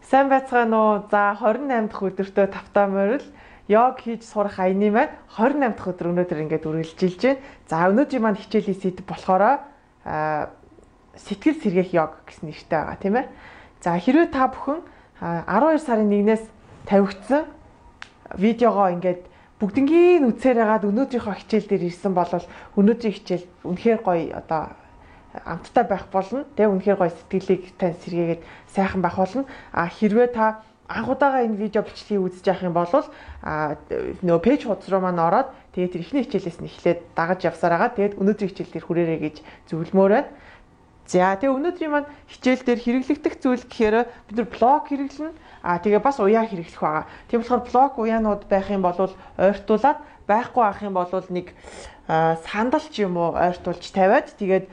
Сайн байцгаана уу? За 28 дахь өдөртөө тавтаа морил йог хийж сурах аяны маань 28 дахь өдөр өнөөдөр ингээд үргэлжилж байна. За өнөөдрийн маань хичээлийн сэдв болохоор сэтгэл сэргээх йог гэсэн нэртэй байгаа тийм ээ. За хэрвээ та бүхэн 12 сарын 1-ээс тавигдсан видеогоо ингээд бүгднгийн үзээр хагаад өнөөдрийнхөө хичээл дээр ирсэн бол өнөөдрийн хичээл үнэхээр гоё одоо амттай байх болно. Тэгээ үнэхээр гоё сэтгэлийг тань сэргээгээд сайхан байх болно. Хэрвээ та анхудаага энэ видео бичлэгийг үзэж явах юм бол нөгөө пэйж хуудас руу маань ороод тэгээд тэр ихний хичээлээс нь эхлээд дагаж явсаар байгаа. Тэгээд өнөөдрийн хичээл дээр хүрээрэй гэж зөвлөмөр байна. За тэгээ өнөөдрийн маань хичээл дээр хэрэглэгдэх зүйл гэхээр бид нар блог хэрэглэнэ. Тэгээ бас уяа хэрэглэх байгаа. Тийм болохоор блог уяанууд байх юм бол ойртуулад байхгүй авах юм бол нэг сандал ч юм уу ойртуулж тавиад тэгээд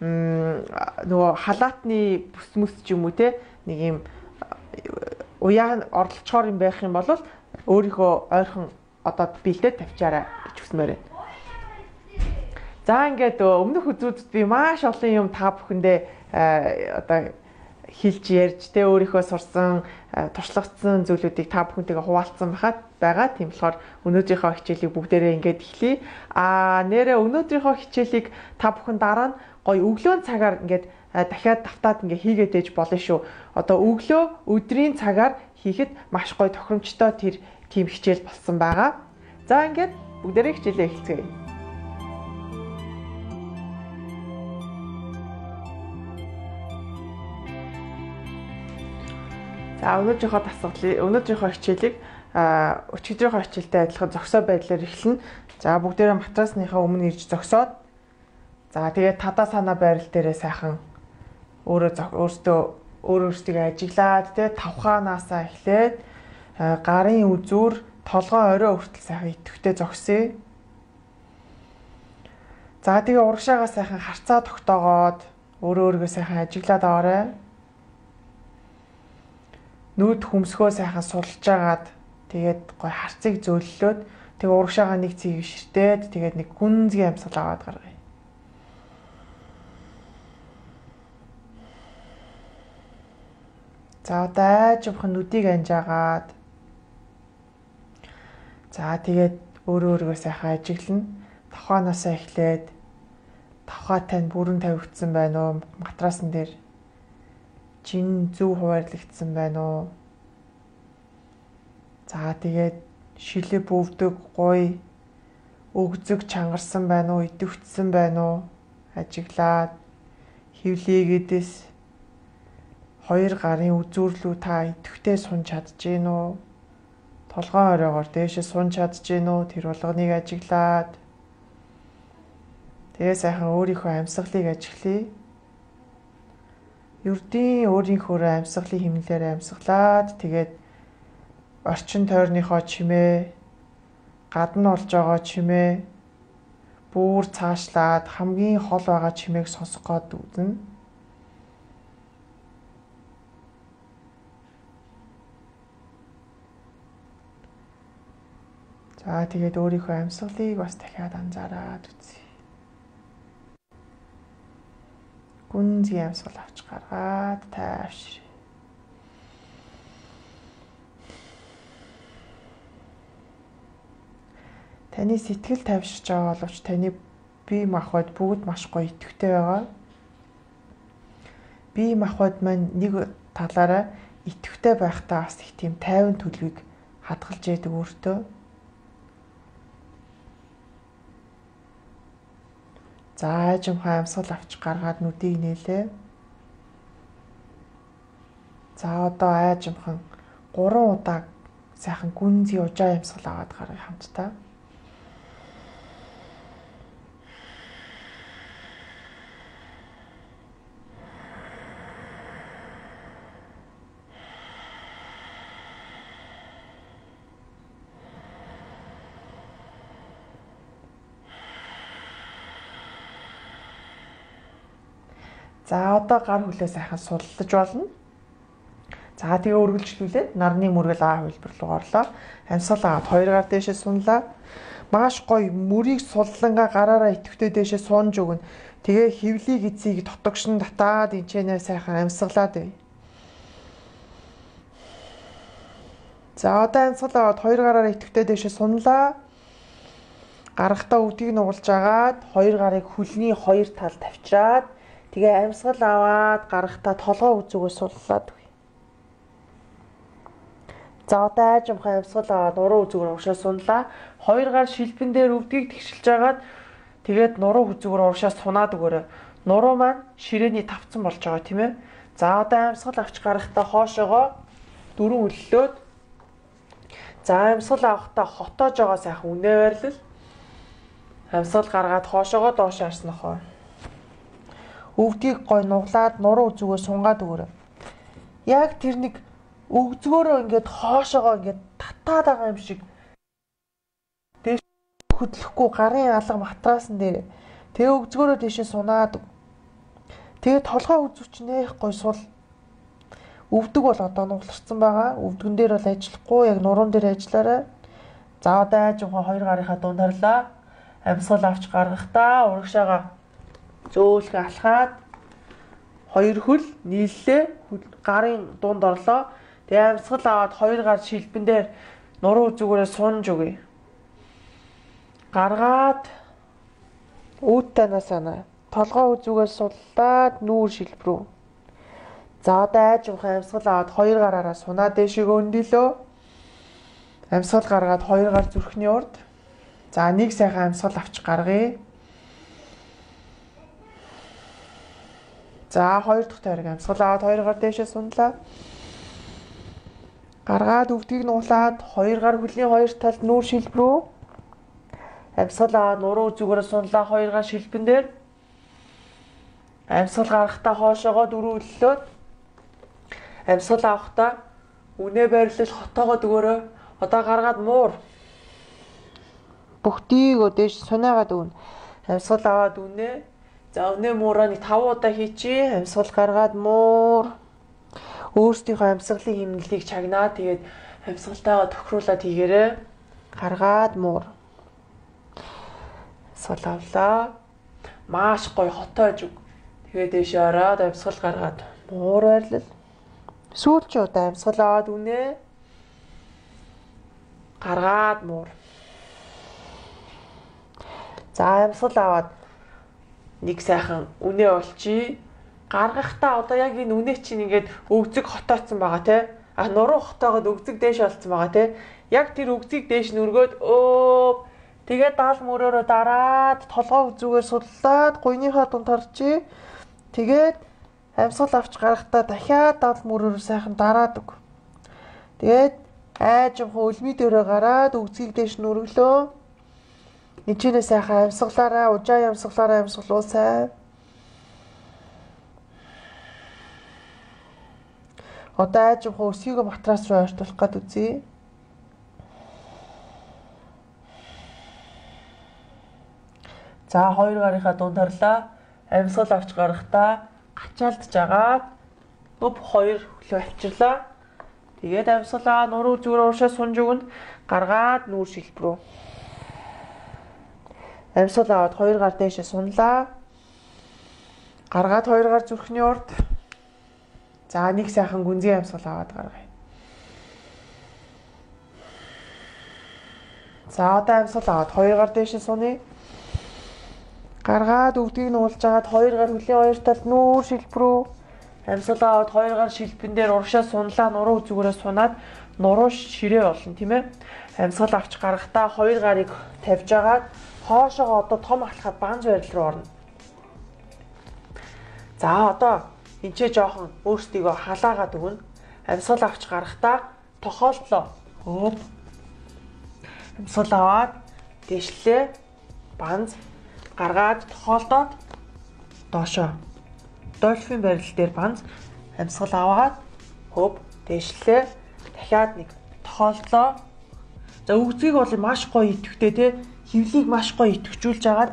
нөгөө халаатны бүс мэс ч юм уу те нэг юм уяа орлцохоор юм байх юм бол өөрийнхөө ойрхон одоо бэлдээд тавьчаарай гэж хүсмээр байна. За ингээд өмнөх өдрүүдэд би маш олон юм та бүхэндээ одоо хэлж ярьж те өөрийнхөө сурсан туршлагацсан зүйлүүдийг та бүхэнтэйгээ хуваалцсан байгаа. Тийм болохоор өнөөдрийнхөө хичээлийг бүгдээрээ ингээд эхлэе. Нэрээ өнөөдрийнхөө хичээлийг та бүхэн дараа нь гоё өглөөний цагаар ингээд дахиад давтаад ингээ хийгээд ээж болно шүү. Одоо өглөө өдрийн цагаар хийхэд маш гоё тохиромжтой тэр тийм хичээл болсон байгаа. За ингээд бүгдээрээ хичээлээ эхэлцгээе. За өнөөдрийнхөө хичээлийг өчигдрийнхөө хичээлтэй адилхан зогсоо байдлаар эхэлнэ. За бүгдээрээ матрасныхаа өмнө ирж зогсоод за тэгээд тадаа санаа байрал дээрээ сайхан өөрөөсөө ажиглаад тэгээд тавхаанаасаа эхлээд гарын үзүүр толгой орой хүртэл сайхан идэвхтэй зогсъё. За тэгээд урагшаагаа сайхан харцаа тогтоогоод өөрийгөө сайхан ажиглаад аваарай. Нүд хөмсгөө сайхан сулж агаад тэгээд гой харцыг зөөллөөд тэгээд урагшаагаа нэг цэгийг ширтээд тэгээд нэг гүнзгий амьсгал аваад гаргая. За одоо айжмхан нүдийг анжаагаад за тэгээд өөрийгөө сайхан ажиглана. Тавхаанаасаа эхлээд тавхаа тань бүрэн тавигдсан байна уу? Матрасан дээр чин зөв хуваарлагдсан байна уу? За тэгээд шилээ бөвдөг гоё өгзөг чангарсан байна уу? Идэвхжсэн байна уу? Ажиглаад хөвлийгээдээс хоёр гарын үзүүрлүү та идэвхтэй сунж чадж гин үү? Толгойн оройгоор дээшээ сунж чадж гин үү? Тэр болгоныг ажиглаад тэгээ сайхан өөрийнхөө амьсгалыг ажиглая. Ердийн өөрийнхөө амьсгалын хэмнэлээр амьсгалаад тэгээд орчин тойрныхоо чимээ гадна олж байгаа чимээ бүр цаашлаад хамгийн хол байгаа чимээг сонсох гээд үзнэ. За тэгээд өөрийнхөө амьсгалыг бас дахиад анзаараад үзье. Гүнзгий амьсгал авч гаргаад тайвшир. Таны сэтгэл тайвширч байгаа боловч таны бие махбод бүгд маш гоё идэвхтэй байгаа. Бие махбод маань нэг талаараа идэвхтэй байхдаа бас их тийм тайван төлөвийг хадгалж яадаг өөртөө. За айжмхан амьсгал авч гаргаад нүдийг нээлээ. За одоо айжмхан 3 удаа сайхан гүнзгий ужаа амьсгал аваад гаргая хамтдаа. За одоо гар хүлээ сайхан суллаж болно. За тэгээ үргэлжлүүлээд нарны мөргөл А хувилбар руу орлоо. Амьсгал аваад 2 гар дээшээ сунлаа. Маш гоё мөрийг суллангаа гараараа идэвхтэй дээшээ сунж өгнө. Тэгээ хөвлийг эцгийг дотогшин татаад энчэнэ сайхан амьсгалаад бай. За одоо амьсгал аваад хоёр гараараа идэвхтэй дэше сунлаа. Гаргахтаа өвдгийг нугалж агаад хоёр гарыг хөлний хоёр тал тавьчаад тэгээ амьсгал аваад гаргахтаа толгой үзүүгөө суллаад өгье. За одоо айжмхан амьсгал аваад нуруу үзүүгээр урагшаа сунлаа. Хоёр гар шилбэн дээр өвдгийг тэгшилж агаад тэгээд нуруу үзүүгээр урагшаа сунаад өгөөрэй. Нуруу маань ширээний тавцсан болж байгаа тийм ээ. За одоо амьсгал авч гаргахтаа хоошоогоо дөрөв өллөөд за амьсгал авахтаа хотоож байгаа сайхан үнэ байрлал. Амьсгал гаргаад хоошоогоо доош харснохоо. Өвдгийг гой нуглаад нуруу зүгөө сунгаад өгөөрэй. Яг тэр нэг өгзгөөрөө ингээд хоошоогоо ингээд татаад байгаа юм шиг дээш хөдлөхгүй гарын алга матраасан дээр тэгээ өгзгөөрөө дээшээ сунаад тэгээ толгой үзүүч нэх гой сул. Өвдөг бол одоо нугларсан байгаа. Өвдгөн дээр бол ажиллахгүй яг нуруунд дээр ажиллаарай. За одоо айжмхан хоёр гарынхаа дунд харлаа. Амьсгал авч гаргахтаа урагшаага зөөлхөн алхаад хоёр хөл нийллээ гарын дунд орлоо. Тэгээ амьсгал аваад хоёр гар шилбэн дээр нуруу зүгээрээ сунж өгье. Гаргаад үүдтэнаа санаа. Толгой үзүүгээс суллаад нүүр шилб рүү. За одоо айжмхан амьсгал аваад хоёр гараараа сунаа дэшег өндөлөө. Амьсгал гаргаад хоёр гар зүрхний урд. За нэг сайхан амьсгал авч гаргая. За хоёр дахь тойрог амьсгал аваад хоёр гар дэшээ сунлаа. Гаргаад өвдгийг нуглаад хоёр гар хөлний хоёр талд нүүр шилб рүү. Амьсгал аваад нуруу зүгээрээ сунлаа хоёр гар шилбэн дээр. Амьсгал гаргахтаа хоошоогоо дөрөв өллөөд амьсгал авахтаа үнэ байрлал хотоогоо дөгөөрөө одоо гаргаад муур. Бүгдийгөө дээш сунаагаад өгнө. Амьсгал аваад үнэ. За үнэ муураа нэг 5 удаа хийчихье. Амьсгал гаргаад муур. Өөрсдийнхөө амьсгалын хэмнэлийг чагнаа. Тэгээд амьсгалтайгаа тохируулаад хийгээрэй. Гаргаад муур. Амьсгал авлаа. Маш гоё хотоож өг. Тэгээд дээшээ ороод амьсгал гаргаад муур байрлал. Сүүлчийн удаа амьсгал аваад үнэ. Гаргаад муур. За амьсгал аваад нэг сайхан үнэ олчий. Гаргахтаа одоо яг энэ үнэ чинь ингээд өгзөг хотооцсон байгаа те. Нуруу хотоогоод өгзөг дээш олцсон байгаа те. Яг тэр өгзгийг дээш нүргөөд тэгээд даал мөрөөрөө дараад толгой үзүүгээр суллаад гуйныхаа дунд харчи. Тэгээд амьсгал авч гаргахтаа дахиад даал мөрөөрөө сайхан дараад өг. Тэгээд айжмхан өлмий дээрээ гараад өгзгийг дээш нүрглөө. Ничэнэ сайхан амьсгалаараа, ужаа амьсгалаараа амьсгалуусай. Одоо айжмхан өсгийгөө матрас руу ойртуулах гээд үзье. За хоёр гарынхаа дунд харлаа. Амьсгал авч гаргахтаа гачаалдж агаад хоёр хөлөө авчирлаа. Тэгээд амьсгалаа нуруу зүгээр уушаа сунж өгнө. Гаргаад нүүр шилб рүү. Амьсгал аваад хоёр гар дээшээ сунлаа. Гаргаад хоёр гар зүрхний урд. За нэг сайхан гүнзгий амьсгал аваад гаргая. За одоо амьсгал аваад хоёр гар дээшээ суны. Гаргаад өвдгийг нуулж агаад хоёр гар хөлийн хоёр талд нүүр шилб рүү. Амьсгал аваад хоёр гар шилбэн дээр урагшаа сунлаа нуруу зүгээрээ сунаад нуруу ширээ болно тийм ээ. Амьсгал авч гаргахтаа хоёр гарыг тавьж агаад хоошоогоо одоо том алхаад банз байрал руу орно. За одоо энчээ жоохон өөрсдийгөө халаагаад өгнө. Амьсгал авч гаргахтаа тохиолдлоо. Амьсгал аваад дэшлээ банз гаргаад тохиолдоод доошоо дольфин барил дээр банз амьсгал аваад дэшлээ дахиад нэг тохиолдлоо. За өгзгийг бол маш гоё идэвхтэй те хөвлийг маш гоё идэвхжүүлж агаад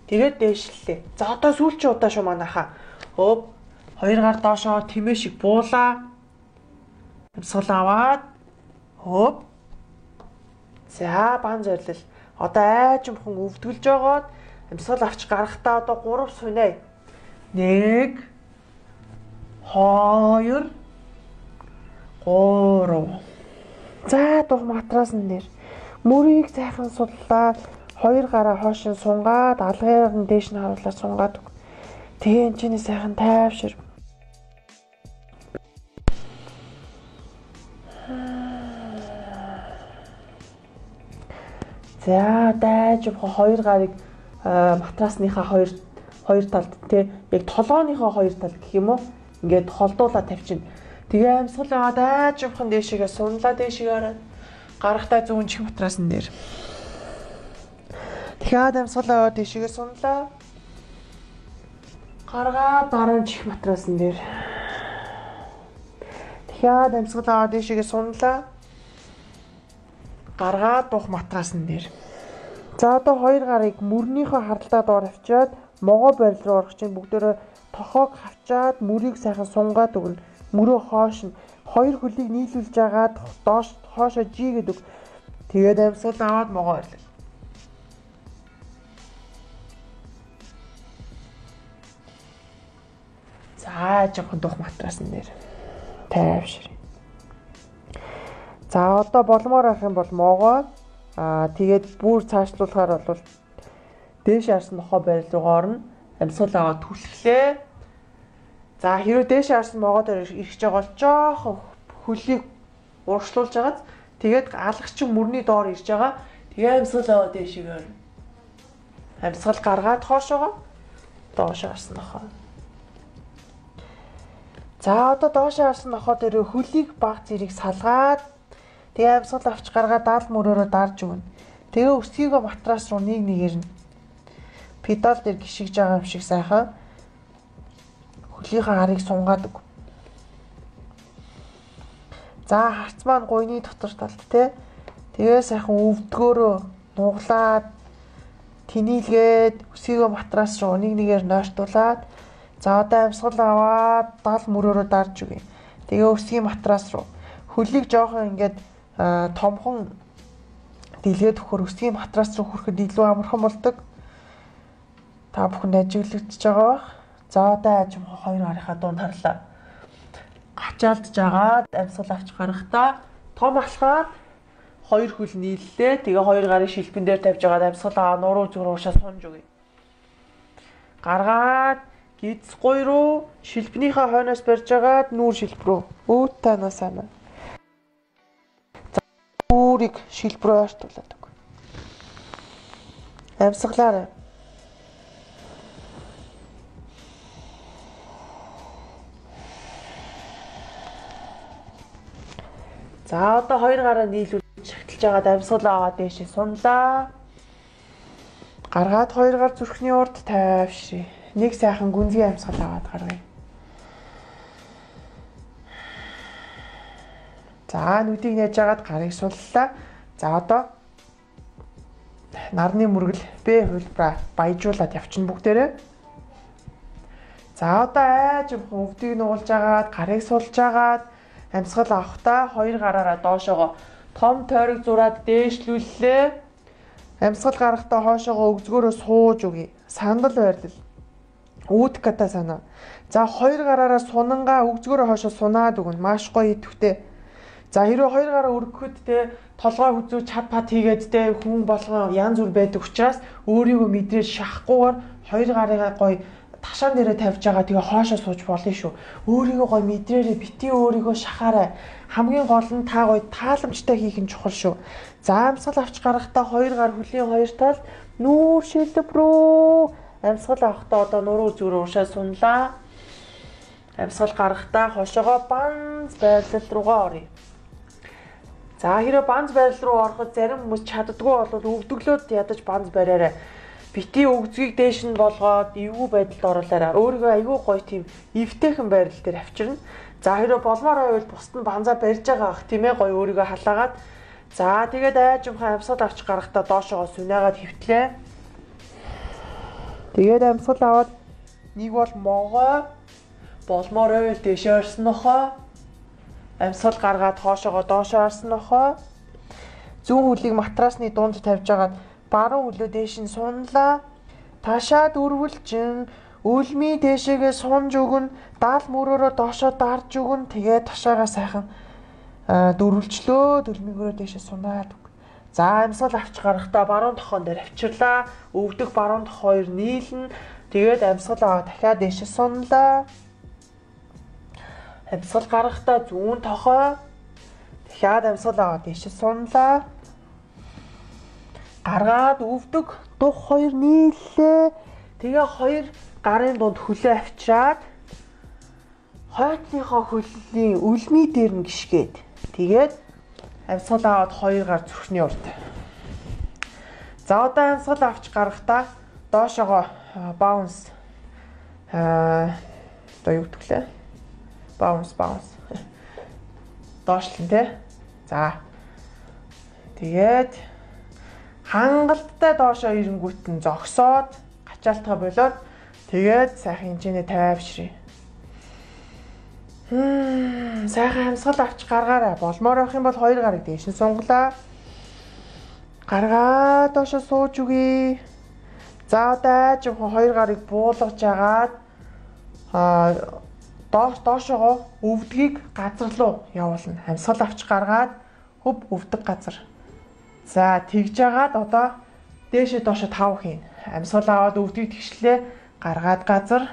тэгээд дээшлээ. За одоо сүүлчийн удаа шүү манайхаа. Хоёр гар доошоо тэмээ шиг буулаа. Амьсгал аваад за бан зорилол. Одоо айжмхан өвдгөлж байгаад амьсгал авч гаргахтаа одоо 3 сунаа. 1 2 3 За дух матрасан дээр мөрийг сайхан судлаад хоёр гараа хойш нь сунгаад алгаар нь дээш нь харуулаад сунгаад. Тэгээ энэ чинь сайхан тайвшир. За дайж хоёр гарыг матрасныхаа хоёр талд тий яг толгооныхоо хоёр тал гэх юм уу ингээд холдуулаад тавьчихна. Тэгээ амьсгал аваад дайж явхан дээшээгээ сунлаа дээшээгээ хараад гарахтаа зүүн чих матрасан дээр. Тэгэхээр амьсгал аваад дээшээгээ сунлаа. Гаргаад дараа чих матрасан дээр. Тэгэхээр амьсгал аваад дээшээгээ сунлаа. Гаргаад дух матрасан дээр. За одоо хоёр гарыг мөрнийхөө хардлагаа доор авчиад могоо барил руу орох чинь бүгдээрээ тохоог хавчаад мөрийг сайхан сунгаад өгнө. Мөрөө хоош нь хоёр хөлийг нийлүүлж агаад доош хоошоо жигээд өг. Тэгээд амьсгал аваад могоо барил. За жоохон дух матрасан дээр тайвшир. За одоо боломоор авах юм бол могоо тэгээд бүр цаашлуулахаар бол дээш харсан нохоо барил руу орно. Амьсгал аваад түлхлээ. За хэрвээ дээш харсан могоо дээр ирж байгаа бол жоохон хөлийг урагшлуулж агаад тэгээд алгачин мөрний доор ирж байгаа. Тэгээ амьсгал аваад дээшээ орно. Амьсгал гаргаад хоошоогоо доош харсан нохоо. За одоо доош харсан нохоо дээр хөлийг баг зэрэг салгаад тэгээ амьсгал авч гаргаад даал мөрөөрөө дарж өгнө. Тэгээ өсгийгөө матрас руу нэг нэгээр нь педал дээр гიშгэж байгаа юм шиг сайхан хөлийнхаа харыг сунгаад өг. За харц маань гуйны дотор талд те. Тэгээ сайхан өвдгөөрөө нуглаад тэнийлгээд өсгийгөө матрас руу нэг нэгээр нойртуулаад за одоо амьсгал аваад даал мөрөөрөө дарж өгье. Тэгээ өсгийн матрас руу хөлийг жоохон ингээд томхон дэлгээд өгөхөр өсгийн матрас руу хүрэхэд илүү амархан болдог. Та бүхэнд ажиглагдчихж байгаа бах. За одоо ажим хоёр гарынхаа дунд харлаа. Ачаалдж агаад амьсгал авч гарахдаа том алхаад хоёр хөл нийллээ. Тэгээ хоёр гарын шилбэн дээр тавьж агаад амьсгал аваа нуруу зүг рүү уушаа сунж өгье. Гаргаад гидсгой руу шилбэнийхээ хойноос барьж агаад нүүр шилб рүү өөд танаас амаа. Үүрийг шилб рүү ойртуулаад өг. Амьсгалаарай. За одоо хоёр гараа нийлүүлж шагталж агаад амьсгал аваад дээшээ сунлаа. Гаргаад хоёр гар зүрхний урд тайвширъя. Нэг сайхан гүнзгий амьсгал аваад гаргая. За нүдийг нээж агаад гарыг суллаа. За одоо нарны мөргөл бэ хөлбраа баяжуулаад явчихна бүгдээрээ. За одоо айж өвдгийг нуулж агаад гарыг сулж агаад амьсгал авахдаа хоёр гараараа доошоогоо том тойрог зураад дээшлүүллээ. Амьсгал гарахдаа хоошоогоо өгзгөөрөө сууж өгье. Сандал байрлал. Үүдката санаа. За хоёр гараараа сунангаа өгзгөөрөө хоошоо сунаад өгнө. Маш гоё идэвхтэй. За хэрвээ хоёр гараа өргөхөд те толгой хүзүү чад пад хийгээд те хүн болгоо янз бүр байдаг учраас өөрийгөө мэдрээд шахахгүйгээр хоёр гарыгаа гоё ташаан дээрээ тавьж байгаа тэгээ хоошоо сууж болно шүү. Өөрийгөө гоё мэдрээрээ бити өөрийгөө шахаарай. Хамгийн гол нь та гоё тааламжтай хийх нь чухал шүү. За амьсгал авч гарахдаа хоёр гар хөлийн хоёр талд нүүр шилб рүү амьсгал авахдаа одоо нуруу зүрх уушаа сунлаа. Амьсгал гарахдаа хошоогоо банз байрлал руугаа оръё. За хэрэг банз байрал руу ороход зарим хүмүүс чаддгүй бол өвдөглөөд ядаж банз бариарай. Бити өгзгийг дээш нь болгоод эвгүй байдалд оруулаарай. Өөрийгөө айгүй гоё тийм эвтэйхэн байрал дээр авчирна. За хэрэг болмоор байвал бусд нь банзаа барьж байгаа ах тийм ээ гоё өөрийгөө халаагаад. За тэгээд айжмхан амьсгал авч гарахдаа доошоогоо сүнээгээд хөвтлээ. Тэгээд амьсгал аваад нэг бол могоо болмоор байвал дээшээ орсон нохоо. Амьсгал гаргаад хоошоогоо доошоо орсон нохоо. Зүүн хөлийг матрасны дунд тавьж агаад баруун хөлөө дээш нь сунлаа. Ташаад өрвөлжин үлмий дээшээгээ сунж өгнө. Даал мөрөөрөө доошоо дарж өгнө. Тэгээд ташаагаа сайхан Дөрвөлчлөө дөрмигөрөө дэше сунаад үг. За амьсгал авч гарахдаа баруун тохоон дээр авчирлаа. Өвдөх баруун тох хоёр нийлнэ. Тэгээд амьсгал аваа дахиад дэше сунлаа. Амьсгал гарахдаа зүүн тохоо дахиад амьсгал аваа дэше сунлаа. Гаргаад өвдөг дух хоёр нийллээ. Тэгээ хоёр гарын дунд хөлөө авчираад хойтныхоо хөлний үлмий дээр нь гიშгээд тэгээд амьсгал аваад хоёр гар зүрхний урд. За одоо амьсгал авч гарахдаа доошоогоо баунс одоо юу гэвэл баунс доошлон тий. За тэгээд хангалттай доошоо ирэнгүүт нь зогсоод гачаалтгаа болоод тэгээд сайхан хэмжээний тайвшрий. Сайхан амьсгал авч гаргаарай. Болмоор байх юм бол хоёр гарыг дээш нь сунглаа. Гаргаа доошоо сууж үгүй. За одоо жоохон хоёр гарыг буулгаж агаад доошоогоо өвдгийг газар руу явуулна. Амьсгал авч гаргаад хөв өвдөг газар. За тэгж агаад одоо дээшээ доошоо 5 хийн. Амьсгал аваад өвдгийг тэгшлээ. Гаргаад газар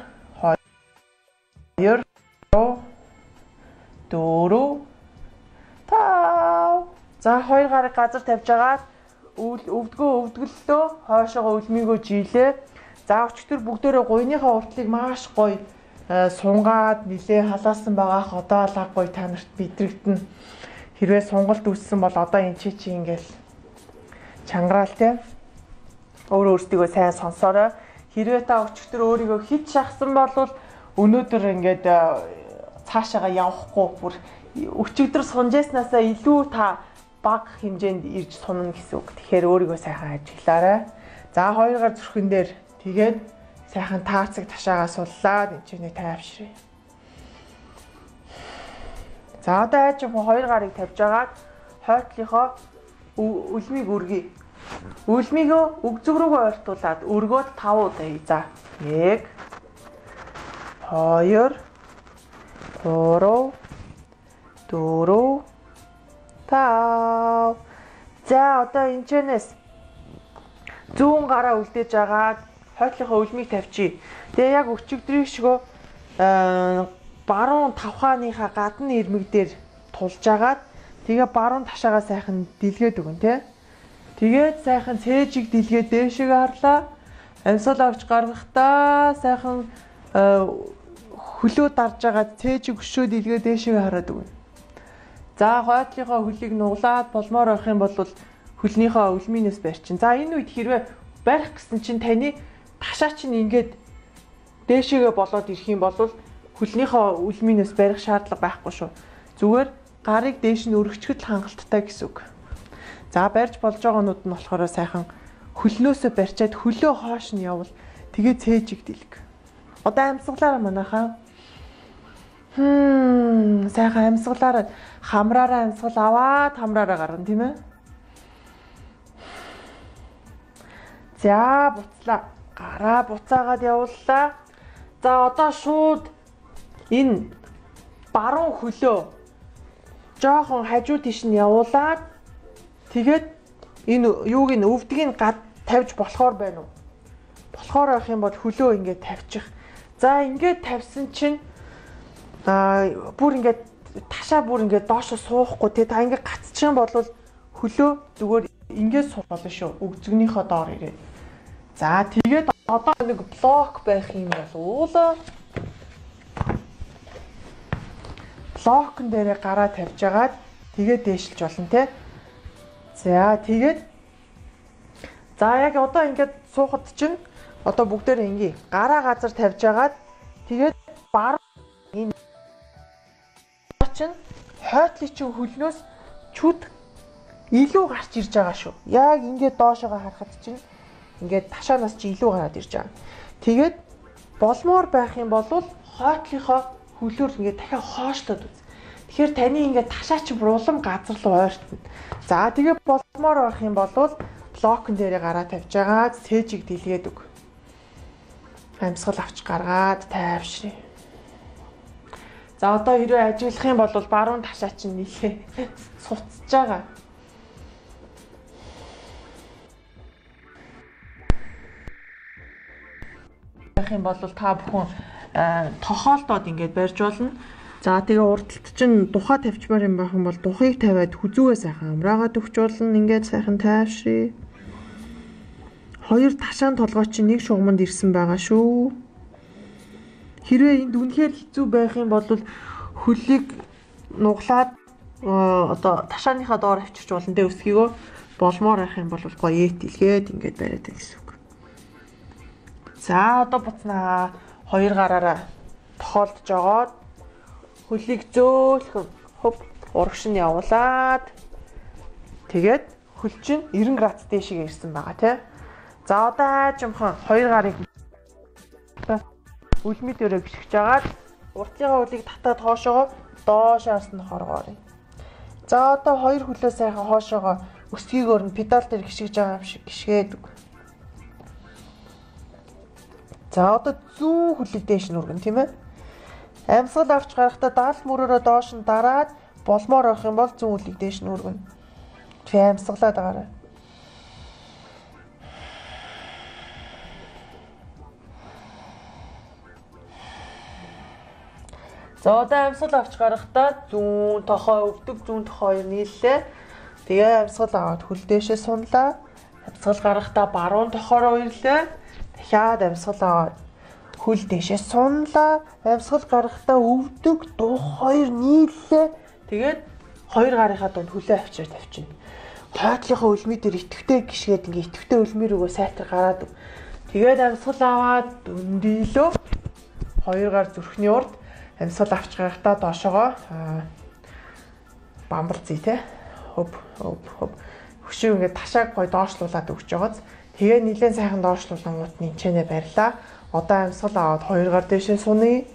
2 4 5. За хоёр гарыг газар тавьж агаад өвдгөлтөө хойшоогоо үлмийгөө жилээ. За өчтөр бүгдээрээ гуйныхаа уртлыг маш гоё сунгаад нилээ халаасан байгаах одоо лаг гоё та нарт бидрэгдэнэ. Хэрвээ сунгалт үссэн бол одоо энэ чи ингээл чангараал те. Өөртөө сайн сонсоорой. Хэрвээ та өчтөр өөрийгөө хит шахсан бол өнөөдөр ингээд цаашаага явахгүй бүр өчигдөр сунжээснасаа илүү та бага хэмжээнд ирж сунна гэсэн үг. Тэгэхээр өөрийгөө сайхан ажиглаарай. За хоёр гар зүрхэн дээр тэгээд сайхан таарцаг ташаагаа суллаад энэ чинь тайвшрий. За одоо айж хоёр гарыг тавьж агаад хойтлынхоо үлмийг өргөе. Үлмийгөө өгзөг рүүгээ ойртуулад өргөөд 5 удаа хий. За 1 2 3 4 5. За одоо энэчнээс зүүн гараа үлдээж агаад хойтлынхоо үлмийг тавьчих. Тэгээ яг өчигдрийн шигөө баруун тавхааныхаа гадны ирмэг дээр тулж агаад тэгээ баруун ташаагаа сайхан дэлгээд өгөн тий. Тэгээд сайхан цээжиг дэлгээд дээшээ харлаа. Амьсгал авч гаргахдаа сайхан хөлөө дарж агаад цээжиг өшөө дэлгээд дээшээ хараад өгнө. За хойтлынхоо хөлийг нуглаад болмоор байх юм бол хөлнийхөө үлмийнээс барьчин. За энэ үед хэрвээ барих гэсэн чинь таны ташаа чинь ингээд дээшээгээ болоод ирэх юм бол хөлнийхөө үлмийнээс барих шаардлага байхгүй шүү. Зүгээр гарыг дээш нь өргөчгөл хангалттай гэсэн үг. За барьж болж байгаанууд нь болохоор сайхан хөлнөөсөө барьчаад хөлөө хоош нь явал тэгээ цээжиг дэлг. Одоо амьсгалаараа манайхаа сайхан амьсгалаараа хамраараа амьсгал аваад хамраараа гарна тийм ээ. За буцлаа. Гараа буцаагаад явууллаа. За одоо шууд энэ баруун хөлөө жоохон хажуу тийш нь явуулаад тэгээд энэ юуг нь өвдгийг тавьж болохоор байна уу? Болохоор байх юм бол хөлөө ингээд тавьчих. За ингээд тавьсан чинь бүр ингээд ташаа бүр ингээд доошо суухгүй тий та ингээд гацчих бол хөлөө зүгээр ингээд суух болно шүү. Өгзөгнийхөө доор ирээд. За тэгээд одоо нэг блок байх юм бол блокн дээрээ гараа тавьж агаад тэгээд дээшилж болно тий. За тэгээд за яг одоо ингээд суухад чинь одоо бүгдээрээ ингээ гараа газар тавьж агаад тэгээд бар энэ чинь хойтлын чинь хөлнөөс чүд илүү гарч ирж байгаа шүү. Яг ингээд доошоогоо харахад чинь ингээд ташаанаас чи илүү гараад ирж байгаа. Тэгээд болмоор байх юм бол хойтлынхоо хөлөөр ингээд дахиад хоошлоод үз. Тэгэхээр таны ингээд ташаа чи улам газар руу ойртно. За тэгээд болмоор байх юм бол блокн дээрээ гараа тавьж байгаа цээжиг дэлгээд өг. Амьсгал авч гаргаад тайвшрий. За одоо хэрвээ ажиглах юм бол баруун ташаа чинь нийлээ суцж байгаа. Юм бол та бүхэн тохоолдоод ингээд барьж болно. За тэгээ урдталт чинь тухай тавьчмаар юм байх юм бол тухайг тавиад хүзүүгээ сайхан амраагаад өгч болно. Ингээд сайхан тайвшрий. 2 ташаан толгой чинь нэг шугамд ирсэн байгаа шүү. Хэрвээ энд үнэхээр хэцүү байх юм бол хөлийг нуглаад одоо ташааныхаа доор авчирч болно тэ өсгийгөө болмоор байх юм бол гоё эт илгээд ингээд бариад байх гэсэн үг. За одоо буцнаа 2 гараараа тохиолдож жогоод хөлийг зөөлхөн хөп урагш нь явуулаад тэгээд хөл чинь 90 градус дээшээ ирсэн байгаа тий. За одоо аажимхан 2 гарыг үлми дээрээ гიშгэж агаад уртныхаа хөлийг татаад хоошоогоо доош харсан хоргоорё. За одоо 2 хөлөө сайхан хоошоогоо өсгийгөөр нь педал дээр гიშгэж байгаа юм шиг гიშгээд үг. За одоо зүүн хөлийг дээш нь өргөн тийм ээ. Амьсгал авч гарахдаа даалт мөрөөрөө доош нь дараад болмоор авах юм бол зүүн хөлийг дээш нь өргөн. Тэгээ амьсгалаад байгаарай. За одоо амьсгал авч гарахдаа зүүн тохой өвдөг зүүн тохой хоёр нийллээ. Тэгээ амьсгал аваад хөл дээшээ сунлаа. Амьсгал гарахдаа баруун тохороо ирлээ. Дахиад амьсгал аваад хөл дээшээ сунлаа. Амьсгал гарахдаа өвдөг дух хоёр нийллээ. Тэгээд 2 гарынхаа дунд хөлөө авчирч тавьчихна. Хойтлынхаа үлмий дээр итгэвтэй гიშгээд ингээ итгэвтэй үлмий рүүгөө сайтар гараад. Тэгээд амьсгал аваад дүндийлөө 2 гар зүрхний урд амьсгал авч гарахдаа доошоогоо бамбалцъя те. Хөп. Хөшөө ингээ ташааг гой доошлуулад өгч байгааз. Тэгээ нилээн сайхан доошлуулангууд нь энчэнэ барьлаа. Одоо амьсгал аваад 2 гар дэшээ суны.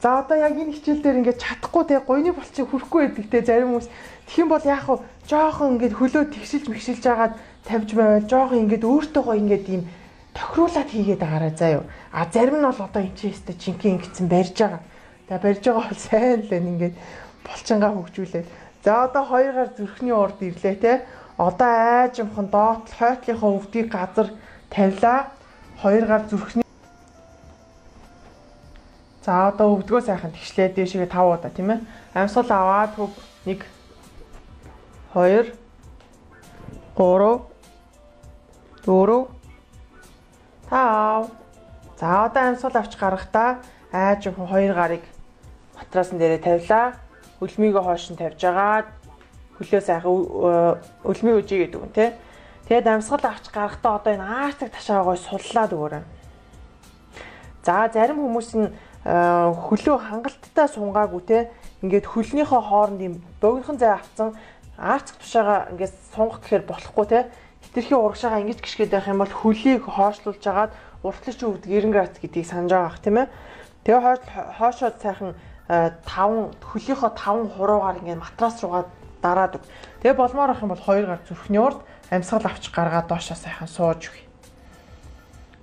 За одоо яг энэ хичээл дээр ингээд чадахгүй те гойны болчиг хүрхгүй байдаг те зарим хүмүүс тэгэх юм бол яах вэ? Жохон ингээд хөлөө тэгшилж мэгшилж агаад тавьж байвал жохон ингээд өөртөө гой ингээд ийм тохируулаад хийгээд байгаарай заа юу. А зарим нь бол одоо энэ ч өстө жинхэнэ ингэсэн барьж байгаа. Тэгээ барьж байгаа бол сайн л байна ингээд булчингаа хөгжүүлээд. За одоо 2 гар зүрхний урд ирлээ те. Одоо аажимхан доот хойтлынхаа өвдгийг газар тавилаа. 2 гар зүрхний. За одоо өвдгөө сайхан тэгшлээ дээшээ 5 удаа тийм ээ. Амьсгал аваад хөв 1 2 3 4 5. За одоо амьсгал авч гарахдаа аажимхан 2 гарыг матрасан дээрээ тавилаа. Үлмийгөө хоош нь тавьж агаад хөлөө сайхан үлмий үжий гэдэг юм тий. Тэгээд амьсгал авч гарахдаа одоо энэ аартаг ташаагой суллаад өгөөрэй. За зарим хүмүүс нь хөлөө хангалттай сунгаагүй те ингээд хөлнийхөө хооронд юм богинохон зай авцсан арцх тушаага ингээд сунгах гэхээр болохгүй те хитрхийн урагшаага ингэж гიშгээд байх юм бол хөлийг хоошлуулж агаад уртлаж өвдөг 90 градус гэдгийг санаж байгаа х тийм ээ. Тэгээ хоошоод сайхан 5 хөлийнхөө 5 хуруугаар ингээд матрас руугаа дараад өг. Тэгээ болмоор ах юм бол 2 гар зүрхний урд амьсгал авч гаргаад доошоо сайхан сууж өгье.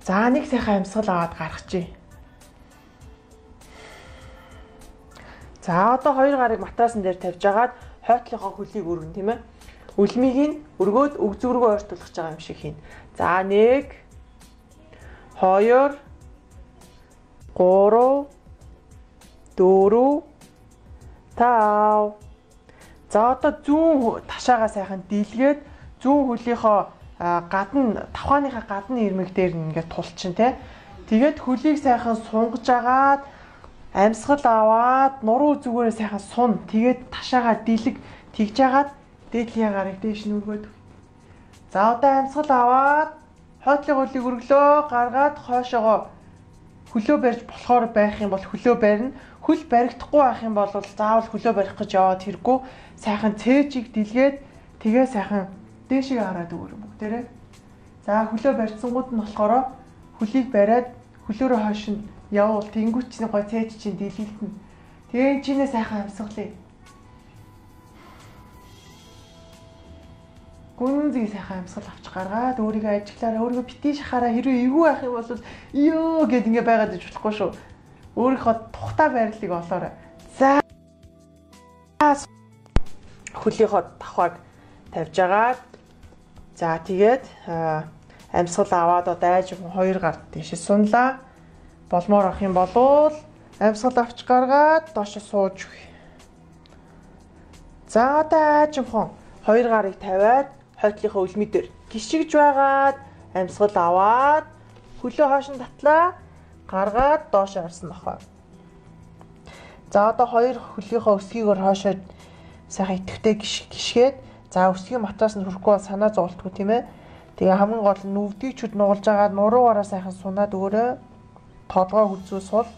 За нэг сайхан амьсгал аваад гаргачихъя. За одоо 2 гарыг матрасан дээр тавьж агаад хойтлынхоо хөлийг өргөн тийм ээ. Үлмийг нь өргөөд өг зүргөө ойртуулах байгаа юм шиг хийн. За 1 2 3 4 5. За одоо зүүн ташаагаа сайхан дийлгээд зүүн хөлийнхөө гадна тавхааныхаа гадны ирмэг дээр ингээд тулчин тий. Тэгээд хөлийг сайхан сунгаж агаад амьсгал аваад нуруу зүгээрээ сайхан сун. Тэгээд ташаагаа дийлэг тэгж агаад дээдлийн гарыг дээш нь өргөөд. За одоо амьсгал аваад хойтлын хөлийг өргөлөө гаргаад хойшоогоо хөлөө барьж болохоор байх юм бол хөлөө барина. Хөл баригдахгүй байх юм бол заавал хөлөө барих гэж яваад хэрэггүй. Сайхан цээжийг дийлгээд тэгээ сайхан дээшээ хараад өгөр юм бүгдээрээ. За хөлөө барьцсангууд нь болохоор хөлийг бариад хөлөөрөө хойш нь явуул тэнгүүч чинь гой цээж чинь дийлэлтэн. Тэгээ чинээ сайхан амьсгалъя. гүнзгий сайхан амьсгал авч гаргаад өөрийгөө ажиглаараа өөрийгөө битгий шахаараа хэрвээ эвгүй байх юм бол ёо гэд ингээ байгаад иж болохгүй шүү. Өөрийнхөө тухтай байрлалыг олоорой. За хөлийнхөө давхааг тавьж агаад за тэгээд амьсгал аваад дайж 2 гар тийш сунлаа. Болмоор авах юм болвол амьсгал авч гаргаад доош сууж үгүй. За дайжмхон 2 гарыг тавиад хойтлынхаа үлми дээр гიშгж байгаад амьсгал аваад хөлөө хоош нь татлаа гаргаад доош харсан нохоо. За одоо 2 хөлийнхөө өсгийгээр хоошоо сайхан идэвхтэй гიშгээд за өсгийн матраас нь хүрэхгүй бол санаа зовлтгүй тийм ээ. Тэгээ хамгийн гол нь нүвдгийг чуд нугалж агаад нуруугаараа сайхан сунаад өөрөө толгой хүзүү сул.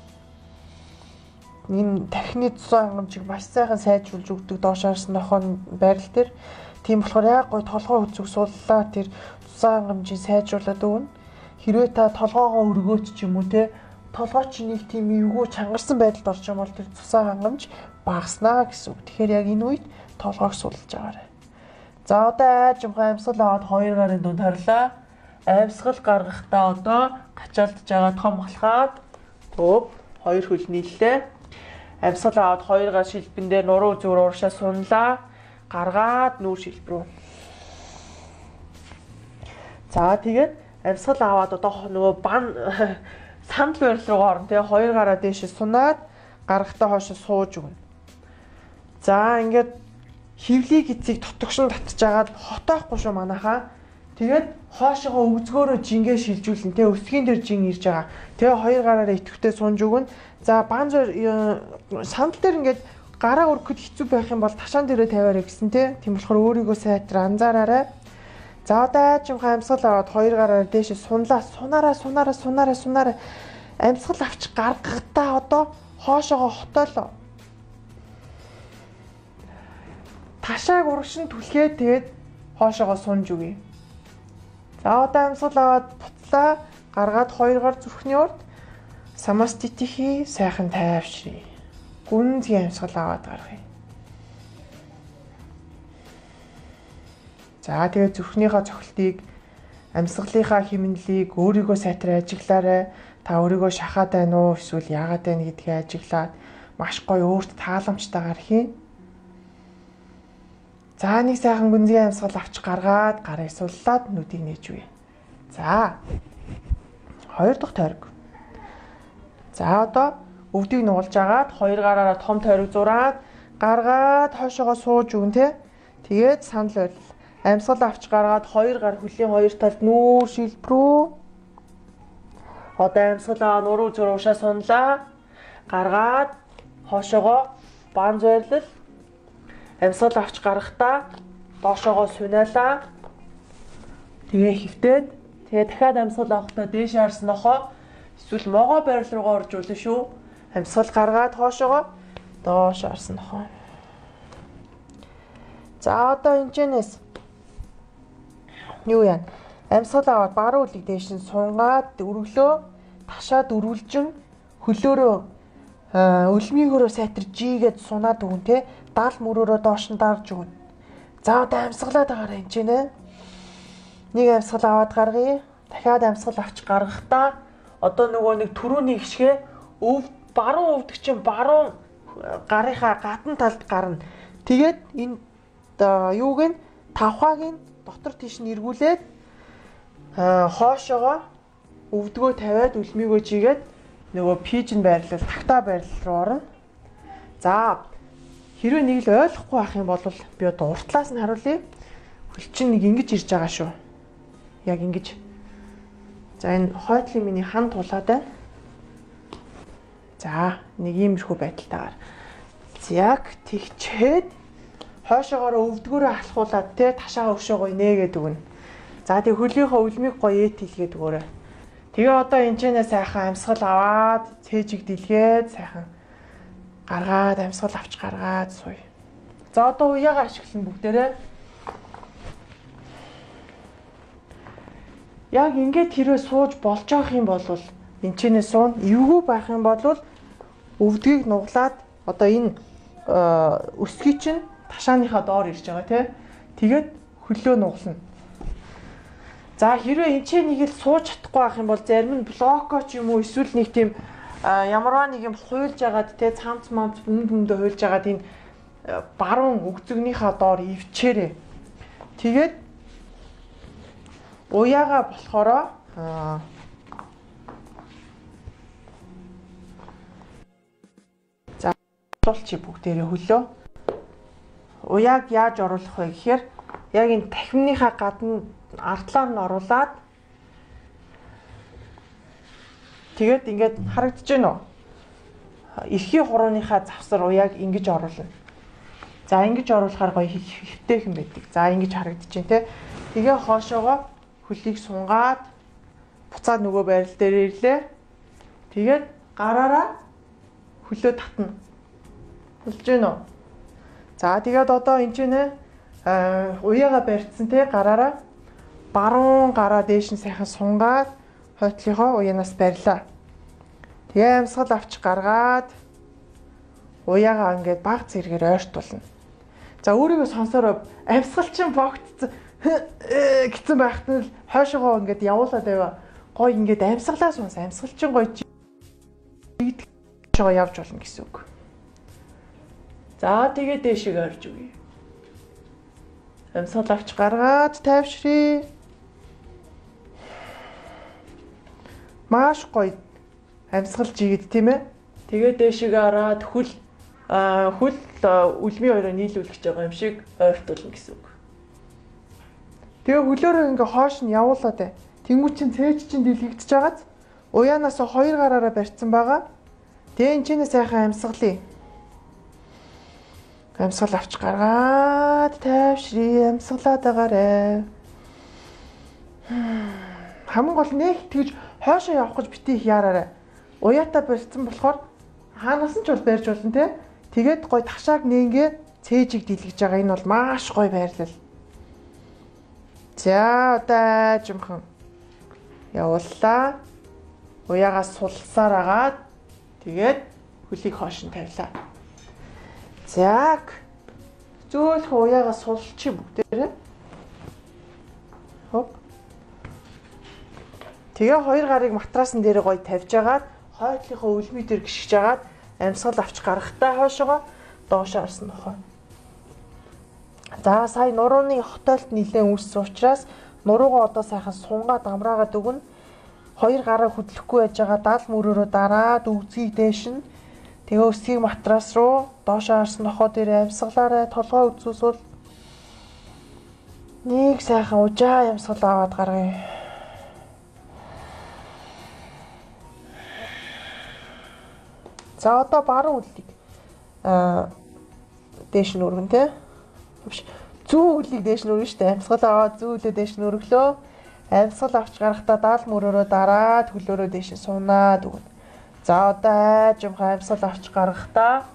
Энэ тархины цус хангамжийг маш сайхан сайжруулж өгдөг доош харсан нохоо байрал дээр. Тийм болохоор яг гой толгой хүзүүг суллаа тэр цус хангамжийг сайжруулад өгнө. Хэрвээ та толгоогоо өргөөч ч юм уу те толгой чи нэг тийм эвгүй чангарсан байдалд орж байгаа бол тэр цус хангамж багаснаа гэсэн үг. Тэгэхээр яг энэ үед толгойг сулж агаарай. За одоо аажимхай амьсгал аваад 2 гарын дунд харлаа. Амьсгал гаргахдаа одоо гачаалдж байгаа том халахад өөп 2 хөл нийллээ. Амьсгал аваад 2 гар шилбэн дээр нуруу зүгээр ууршаа сунлаа. Гаргаад нүүр шилб рүү. За тэгээд амьсгал аваад одоо нөгөө бан сандал байрал руу орно тэгээ 2 гараа дээш сунаад гаргахтаа хойш сууж өгнө. За ингээд хевлийг эцгийг тотгошин татчихагаад хотоохгүй шүү манайхаа. Тэгээд хоошоогоо өвзгөөрөө жингээ шилжүүлнэ тэгээ өсгийн дээр жин ирж байгаа. Тэгээ 2 гараараа идэвхтэй сунж өгнө. За бан сандал дээр ингээд гараа өргөхөд хэцүү байх юм бол ташаан дээрээ тавиараа гэсэн тийм болохоор өөрийгөө сайтар анзаараарай. За одоо аажимхай амьсгал аваад 2 гараар дээш сунлаа. Сунаараа. Амьсгал авч гаргахдаа одоо хоошоогоо хотоолоо. Ташааг урагшин түлхээд тэгээд хоошоогоо сунж өгье. За одоо амьсгал аваад бутлаа. Гаргаад 2 гар зүрхний урд самаститихи сайхан тайвшрий. Гүнзгий амьсгал аваад гаргая. За тэгээд зүрхнийхаа цохилтыг амьсгалынхаа хэмнэлийг өөрийгөө сайтар ажиглаарай. Та өөрийгөө шахаад байна уу эсвэл яагаад байна гэдгийг ажиглаад маш гоё өөрт тааламжтайгаар хийн. За нэг сайхан гүнзгий амьсгал авч гаргаад гарыг суллаад нүдийг нээж үе. За 2 дахь тойрог. За одоо өвдгийг нуулж агаад 2 гараараа том тойрог зураад гаргаад хойшоогоо сууж өгнө те. Тэгээд санал байл. Амьсгал авч гаргаад 2 гар хөлийн 2 талд нүүр шилб рүү. Одоо амьсгалаа нуруу зур уушаа сунлаа. Гаргаад хойшоогоо бан зойрлол. Амьсгал авч гарахдаа доошоогоо сунаалаа. Тэгээ хөвтөөд тэгээ дахиад амьсгал авахдаа дээш харсан нохоо эсвэл могоо байрал руугаа оржуулна шүү. Амьсгал гаргаад хоошоогоо доош харсан нохоо. За одоо энэчнээс юу яа? Амьсгал аваад баруун үлийг дээш нь сунгаад өргөлөө ташаад өрүүлжин хөлөөрөө өлмигөөрөө сайтар жигээд сунаад өгөн те 70 мөрөөрөө доош нь дарж өгнө. За одоо амьсгалаад байгаараа энэчнэ. Нэг амьсгал аваад гаргая. Дахиад амьсгал авч гаргахдаа одоо нөгөө нэг түрүүний гიშгэ баруун өвдөг чинь баруун гарынхаа гадна талд гарна. Тэгээд энэ юуг нь тавхааг нь дотор тийш нь эргүүлээд хоошоогоо өвдгөө тавиад үлмигөө жигээд нөгөө пижн байрлал тагтаа байрлал руу орно. За хэрвээ нэг л ойлгохгүй байх юм бол би одоо уртлаас нь харуулъя. Хөл чинь нэг ингэж ирж байгаа шүү. Яг ингэж. За энэ хойтлын миний хан тулаад байна. За нэг иймэрхүү байдалтайгаар. Яг тэгчээд хойшоогоо өвдгөөрөө алхуулад те ташаа өшөөгөө нээгээд өгнө. За тэг хөлийнхөө үлмиг гоё эт хэлгээд өгөөрэй. Тэгээ одоо энэчнээ сайхан амьсгал аваад цээжиг дэлгээд сайхан гаргаад амьсгал авч гаргаад суй. За одоо уяагаа ашиглана бүгдээрээ. Яг ингээд тэрөө сууж болж байгаа юм бол энэчнээ суун эвгүй байх юм бол өвдгийг нуглаад одоо энэ өсгий чинь ташааныхаа доор ирж байгаа тий. Тэгээд хөлөө нугална. За хэрвээ энэ ч нэг л сууж чадахгүй байх юм бол зарим нь блоко ч юм уу эсвэл нэг тийм ямарваа нэг юм хуйлж агаад те цамц мамц бөмбөндөө хуйлж агаад энэ баруун өгзөгнийхаа доор ивчээрээ. Тэгээд уяага болохоро за оруулчих бүгдээрээ хөлөө. Уяаг яаж оруулах вэ гэхээр яг энэ тахимныхаа гадна ардлаар нь оруулаад тэгээд ингээд харагдаж байна уу? Эрхийн хурууныхаа завсар уяаг ингэж оруулна. За ингэж оруулахаар гоё хэвтэйхэн байдаг. За ингэж харагдаж байна те. Тэгээ хоошоогоо хөлийг сунгаад буцаад нөгөө байрал дээр ирлээ. Тэгээд гараараа хөлөө татна. Болж байна уу? За тэгээд одоо энэ ч нэ уяага барьцсан те гараараа баруун гараа дээш нь сайхан сунгаад хойтлынхоо уянаас барьлаа. Тэгээ амьсгал авч гаргаад уяагаа ингээд баг зэрэгээр ойртуулна. За өөрийгөө сонсороо амьсгал чинь богтцсон гэсэн байхад нь хойшоогоо ингээд явуулаад байва. Гой ингээд амьсгалаа сонс. Амьсгал чинь гой жигдгөө явж болно гэсэн үг. За тэгээ дээшээ орж өгье. Амьсгал авч гаргаад тайвшрий. Маш гоё амьсгал жигэд тийм ээ. Тэгээ дээшээ хараад хөл үлмийн хоёроо нийлүүлж байгаа юм шиг ойртуулна гэсэн үг. Тэгээ хөлөөрөө ингээ хоош нь явуулаад бай. Тэнгүү чин цээж чин дэлгэгдэж байгааз уяанаас хоёр гараараа барьсан байгаа. Тэгээ энэ чинь сайхан амьсгалыг. Амьсгал авч гаргаад тайвшрий амьсгалаад байгаарэ. Хамгийн гол нэг тэгж хойшоо явах гэж битгий их яараарай. Уяатаа барьсан болохоор хаанаас нь ч бол барьж болно те. Тэгээд гой ташааг нeenгээ цээжийг дэлгэж байгаа. Энэ бол маш гой байрлал. За одоо жимхэн явууллаа. Уяагаас сулсаар агаад тэгээд хөлийг хоош нь тавилаа. За зөөлх уяагаас сулчих бүгдээрээ. Хоп. Тэгээ хоёр гарыг матрасан дээр гоё тавьж агаад хойдлынхоо үлмий дээр гიშгэж агаад амьсгал авч гарахтаа хойшоогоо доош харсан нохоо. За сая нурууны хотойлт нилээн үүссэн учраас нуруугаа одоо сайхан сунгаад амраагаад өгнө. Хоёр гараа хөдлөхгүй байж байгаа даал мөрөөрөө дараад өгзгийг дээш нь тэгээ өсгийг матрас руу доош харсан нохоо дээр амьсгалаарай толгой үзүүсвэл нэг сайхан ужаа амьсгал аваад гаргая. За одоо баруун үлийг дээш нь өргөн те. Зүүн үлийг дээш нь өргөн штэ. Амьсгал аваад зүүн үлээ дээш нь өргөлөө. Амьсгал авч гарахдаа даал мөрөөрөө дараад хөлөөрөө дээш нь сунаад өгнө. За одоо айжмхан амьсгал авч гарахдаа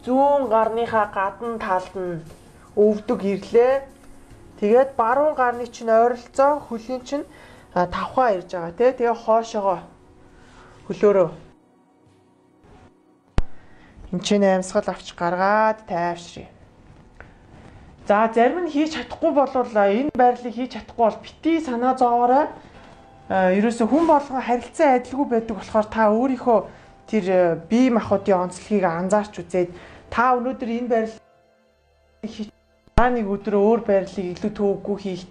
зүүн гарныхаа гадна талд нь өвдөг ирлээ. Тэгээд баруун гарны чинь ойролцоо хөлийн чинь тавхаа ирж байгаа те. Тэгээ хоошоогоо хөлөөрөө энэ чинь амьсгал авч гаргаад тайвшрий. За зарим нь хийж чадахгүй бол энэ байрлалыг хийж чадахгүй бол бити санаа зовоорой. Ерөөсө хүн болгон харилцан адилгүй байдаг болохоор та өөрийнхөө тэр бие махбодын онцлогийг анзаарч үзээд та өнөөдөр энэ байрлалыг хийж нэг өдөр өөр байрлалыг илүү төвөггүй хийх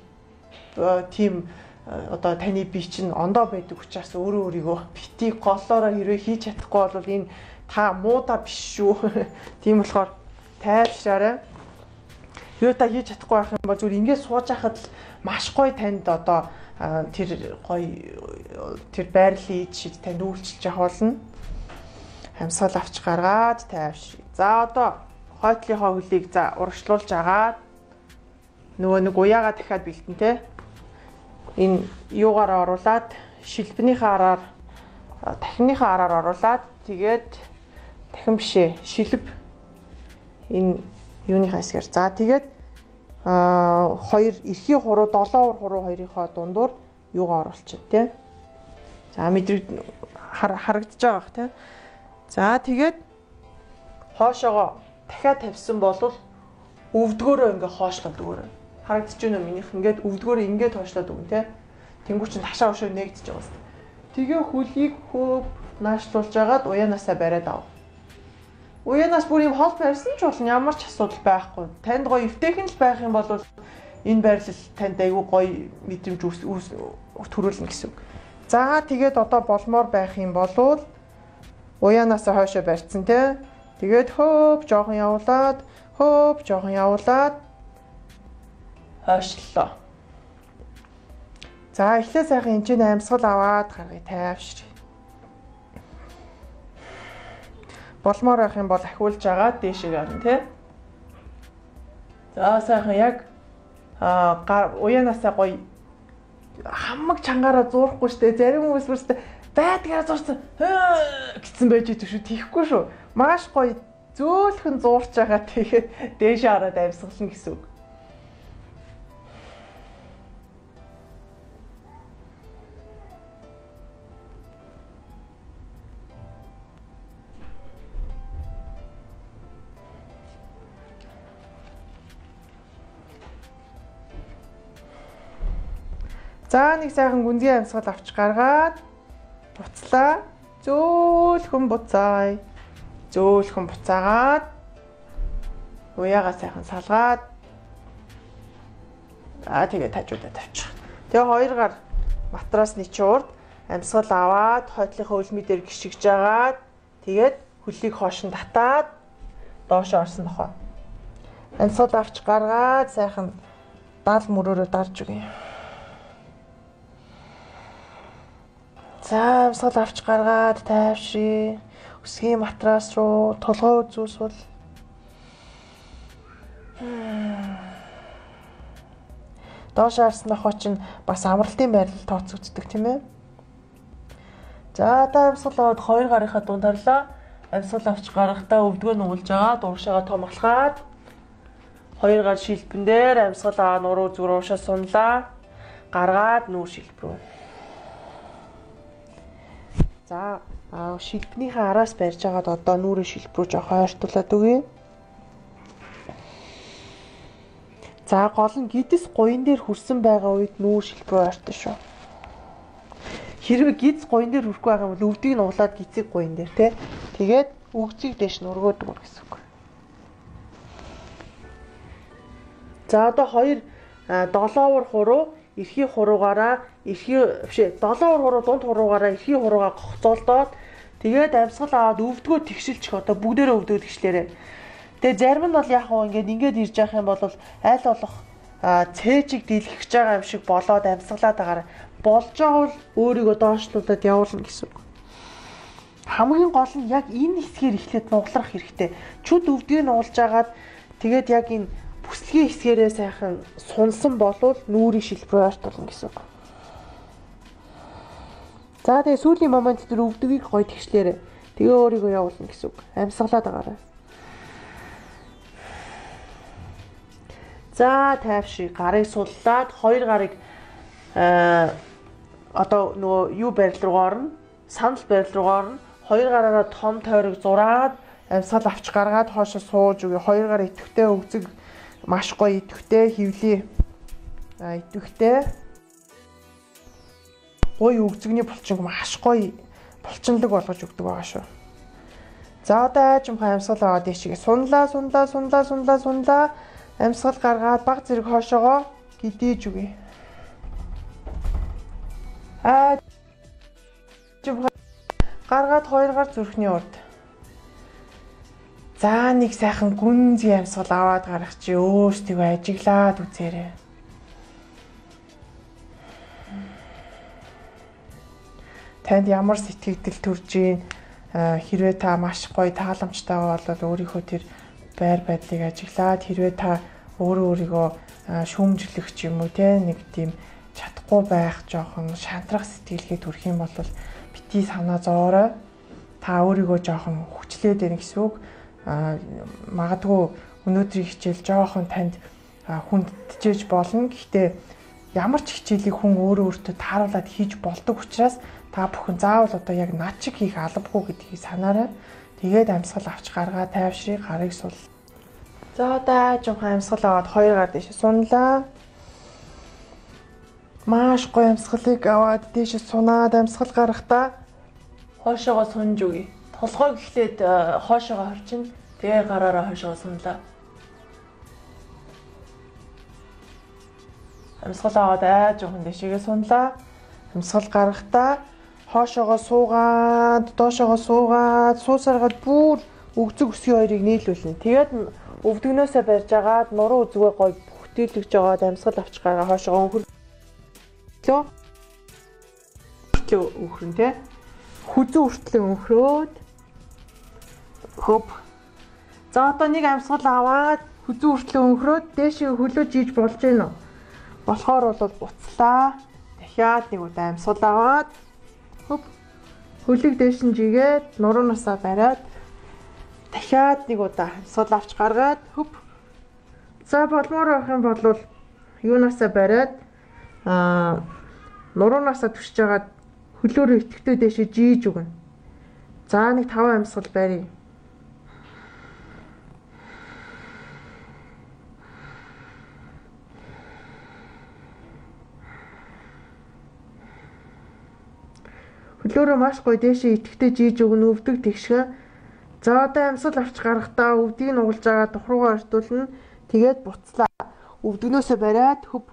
тийм одоо таны бие чинь ондоо байдаг учраас өөрийгөө бити голоороо хэрвээ хийж чадахгүй бол энэ та муудаа биш шүү. Тийм болохоор тайвшраарай. Юу та хийж чадахгүй байх юм бол зүгээр ингээд сууж байхад л маш гоё танд одоо тэр гоё тэр байрлалын шид танд үйлчилж явах болно. Амьсгал авч гаргаад тайвшрий. За одоо хойтлынхоо хөлийг за урагшлуулж агаад нөгөө нэг уяагаа дахиад бэлтэн те. Энэ юугаар оруулаад шилбэнийхээ араар тахимныхаа араар оруулаад тэгээд дахин бишээ шилб энэ юуны хасгаар. За тэгээд хоёр эрхийн хуруу 7 хуруу хоёрынхоо дундуур юугаа оруулчих тий. За мэдрэг харагдаж байгаа бах тий. За тэгээд хоошоогоо дахиад тавьсан бол өвдгөөрөө ингээ хоошлоод өгөөрэй. Харагдаж байна уу минийх ингээд өвдгөөр ингээд хойшлоод өгнө те. Тэнгуү чин ташаа ушаа нэгдэж байгаа юм. Тэгээ хөлийг хөөв наашлуулж агаад уяанаасаа бариад ав. Уянаас бүр юм хол барьсан ч болно ямар ч асуудал байхгүй. Танд гоё эвтэйхэн л байх юм бол энэ байрлал танд айгүй гоё мэдрэмж төрүүлнэ гэсэн үг. За тэгээд одоо болмоор байх юм болвол уяанаасаа хойшоо барьцсан те. Тэгээд хөөп жоохон явуулаад хойшлоо. За эхлээ сайхан энэ амьсгал аваад гаргая тайвшир. Болмоор байх юм бол ахиулж агаад дээшээ орно тий. За сайхан яг уяанаасаа гоё хамаг чангаараа зуурахгүй штэ. Зарим хүмүүс бүрстэ байдгаараа зурсан гэсэн байж идэв шүү. Тийхгүй шүү. Маш гоё зөөлхөн зуурч байгаа тэгээд дээшээ ороод амьсгална гэсэн үг. За нэг сайхан гүнзгий амьсгал авч гаргаад буцлаа. Зөөлхөн буцаая. Зөөлхөн буцаагаад уяагаа сайхан салгаад тэгээ тажуудаа тавьчих. Тэгээ хоёр гар матрасны чуурд амьсгал аваад хойтлынхаа үлмий дээр гიშгэж агаад тэгээд хөлийг хоошин татаад доош орсон тохоо. Амьсгал авч гаргаад сайхан дал мөрөөрөө дарж өгье. За амьсгал авч гаргаад тайвшрий. Өсгийн матрас руу толгой үзүүлсвэл доош харсан нохоо чинь бас амралтын байрлал тооцогддог тийм ээ. За та амьсгал аваад хоёр гарынхаа дунд харлаа. Амьсгал авч гарахдаа өвдгөө нуулж байгаа дууршаага томглохаад хоёр гар шилбэн дээр амьсгал аваа нуруу зүг уушаа сунлаа. Гаргаад нүүр шилб рүү. За шилбнийхээ араас барьж агаад одоо нүрийн шилб рүү жоох ойртуулад өгье. За гол нь гидс гуйн дээр хүрсэн байгаа үед нүүр шилб рүү ойртоо шүү. Хэрвээ гидс гуйн дээр хүрэхгүй байгаа юм бол өвдгийг нь углаад гидсийг гуйн дээр тий. Тэгээд өгцгийг дэш нь өргөөдөг гэсэн үг. За одоо хоёр 7-оор хуруу эрхий хуруугаараа долоовор хуруу дунд хуруугаараа эрхий хуруугаа гогцоолдоод тэгээд амьсгал аваад өвдгөө тэгшилчих одоо бүгдээрээ өвдгөө тэгшлээрээ. Тэгээд зарим нь бол яг хөө ингээд ирж явах юм бол аль болох цээжийг дийлгэж байгаа юм шиг болоод амьсгалаад байгаараа болж байгаа бол өөрийгөө доошлуулад явуулна гэсэн үг. Хамгийн гол нь яг энэ хэсгээр эхлээд нуглах хэрэгтэй. Чүд өвдгийг нь уулж агаад тэгээд яг энэ бүслэгийн хэсгээрээ сайхан сунсан болвол нүрийн шилб рүү ойртуулна гэсэн үг. За тэгээ сүүлийн момент дээр өвдгийг гоё тэгшлээрээ тэгээ өөрийгөө явуулна гэсэн үг. Амьсгалаад байгаарай. За тайвшир гарыг суллаад хоёр гарыг одоо нөгөө юу барил руу орно. Санал барил руу орно. Хоёр гараараа том тойрог зураад амьсгал авч гаргаад хоошо сууж өгье. Хоёр гар идэвхтэй өгзөг маш гоё идэвхтэй хөвлий. Идэвхтэй гоё өгзөгний булчинг маш гоё булчинлаг болгож өгдөг байгаа шүү. За одоо аажимхай амьсгал аваад дэшигээ сунлаа. Амьсгал гаргаад баг зэрэг хоошоогоо гидээж өгье. Гаргаад хоёр гар зүрхний урд. За нэг сайхан гүнзгий амьсгал аваад гарах чи өөрсдийгөө ажиглаад үзээрэй. Танд ямар сэтгэгдэл төрж ийн хэрвээ та маш гоё тааламжтай бол өөрийнхөө тэр байр байдлыг ажиглаад хэрвээ та өөрийгөө шүүмжлэх ч юм уу те нэг тийм чадахгүй байх жоохон шантрах сэтгэлгээ төрөх юм бол бити санаа зоорой. Та өөрийгөө жоохон хүчлээд байна гэсэн үг. Магадгүй өнөөдрийн хичээл жоохон танд хүндчээж болно. Гэхдээ ямар ч хичээлийг хүн өөртөө тааруулаад хийж болдог учраас та бүхэн заавал одоо яг над шиг хийх албагүй гэдгийг санаарай. Тэгээд амьсгал авч гаргаа тайвшрыг гарыг сул. За одоо аажимхай амьсгал аваад хоёр гар дэше сунлаа. Маш гоё амьсгалыг аваад дээш сунаад амьсгал гаргахдаа хоошоогоо сунж үгүй. Толгой гэхлээд хоошоогоо хорчин. Тэгээ гараараа хоошоогоо сунлаа. Амьсгал аваад жоохон дэшегээ сунлаа. Амьсгал гаргахдаа хоошоогоо суугаад, доошоогоо суугаад, суусаргаад бүр өгзөг өсгий хоёрыг нийлүүлнэ. Тэгээд өвдгнөөсөө барьж агаад нуруу үзгээ гоё бүхтэлж жагаад амьсгал авч гараа хоошоогоо өнхөрлөө. Өөхрөн тий. Хүзүү хүртлэн өнхрөөд хөп. За одоо нэг амьсгал аваад хүзүү хүртлэн өнхрөөд дээшээ хөлөө жийж болж гэнэ үү? Болохоор бол буцлаа. Дахиад нэг удаа амьсгал аваад хөп. Хөлийг дээш нь жигээд нуруунасаа бариад дахиад нэг удаа амьсгал авч гаргаад хөп. За болмоор байх юм бол юунаасаа бариад нуруунасаа түшиж агаад хөлөөрөө итгэвтэй дэшээ жийж өгнө. За нэг 5 амьсгал барья. Хөлөөрөө маш гоё дэшээ итгэвтэй жийж өгнө, өвдөг тэгшгэ. За одоо амьсгал авч гаргахдаа өвдгийг нугалж байгаа тухруугаар ортуулна. Тэгээд буцлаа. Өвдгнөөсөө бариад хөп.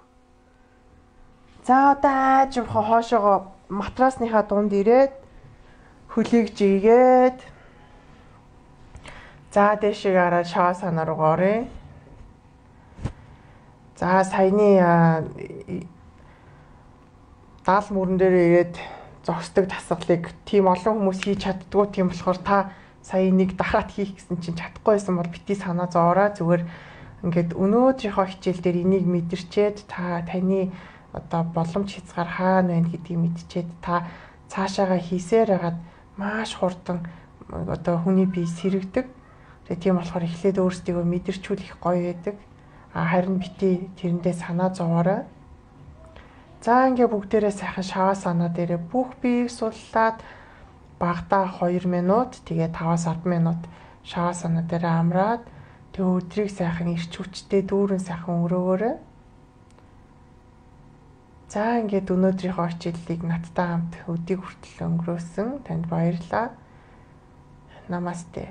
За одоо аажимхаа хоошоогоо матрасныхаа дунд ирээд хөлийг жигээд за дэшиг хараад шаваасана руу орё. За саяны даал мөрөн дээр ирээд зогсдог тасгалыг тийм олон хүмүүс хийж чаддгүй, тийм болохоор та сая нэг дахиад хийх гэсэн чинь чадахгүй байсан бол бити санаа зоороо. Зүгээр ингээд өнөөдрийнхөө хичээл дээр энийг мэдэрчээд таны одоо боломж хязгаар хаана байна гэдгийг мэдчихэд та цаашаага хийсээр хагаад маш хурдан одоо хүний бие сэрэгдэг. Тэгээ тийм болохоор эхлээд өөрсдийгөө мэдэрчүүлэх гоё байдаг. Харин бити тэрэндээ санаа зовоорой. За ингээ бүгдээрээ сайхан шаваасана дээрээ бүх биеийг суллаад багадаа 2 минут тэгээ 5-10 минут шаваасана дээрээ амраад тэгээ өдрийг сайхан ирч хүчтэй дүүрэн сайхан өнгөрөөгөөрэй. За ингээд өнөөдрийнхөө хичээллийг надтай хамт өдийг хүртэл өнгөрөөсөн танд баярлалаа. Намасте.